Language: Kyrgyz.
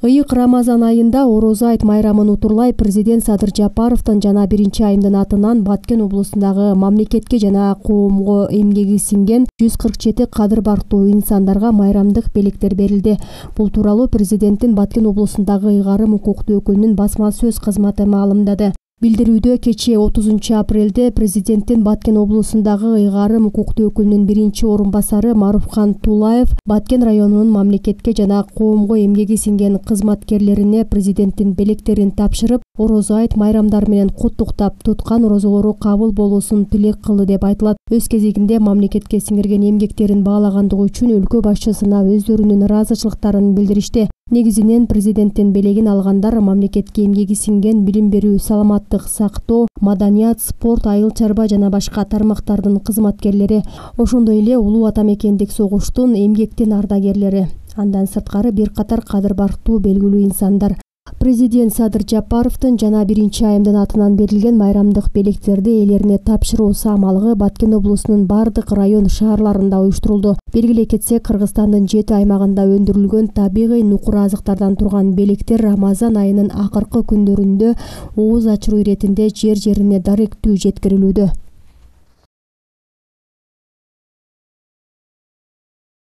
Ыйык Рамазан айында Орозо айт майрамын утурлай президент Садыр Жапаровдун жана 1-айымдын атынан Баткен облусундагы мамлекетке жана коомго эмгеги сиңген 147 кадыр бартуу инсандарга майрамдык белектер берилди. Бул тууралуу президенттин Баткен облусундагы ыйгарым укуктуу өкүлүнүн басма сөз кызматы маалымдады. Билдирүүдө кечээ 30 апрелде президенттин Баткен облусундагы ыйгарым укуктуу өкүлүнүн 1-орунбасары Маруфхан Тулаев Баткен районунун мамлекетке жана коомго эмгеги сиңген кызматкерлерине президенттин белектерин тапшырып, Орозо айт майрамдары менен куттуктап, туткан орозолору кабыл болуусун тилек кылды деп айтылат. Өз кезегинде мамлекетке сиңирген эмгектерин баалагандыгы үчүн өлкө башчысына өздөрүнүн ыраазычылыктарын билдиришти. Негизинен президенттин белегин алгандар мамлекетке эмгеги сиңген билим берүү, саламаттык сактоо, маданият, спорт, айыл чарба жана башка тармактардын кызматкерлери, ошондой эле улуу ата мекендик согуштун эмгектин ардагерлери. Андан сырткары бир катар кадыр бартуу белгилүү инсандар. Президент Садыр Жапаровдун жана 1-айымдын атынан берилген майрамдык белектерди ээлерине тапшыруу самалыгы Баткен облусунун бардык район шаарларында уюштурулду. Белгилей кетсек, Кыргызстандын 7 аймагында өндүрүлгөн табигый нукур азыктардан турган белектер Рамазан айынын акыркы күндөрүндө ооз ачыруу иретинде жер-жерине даректүү жеткирилүүдө.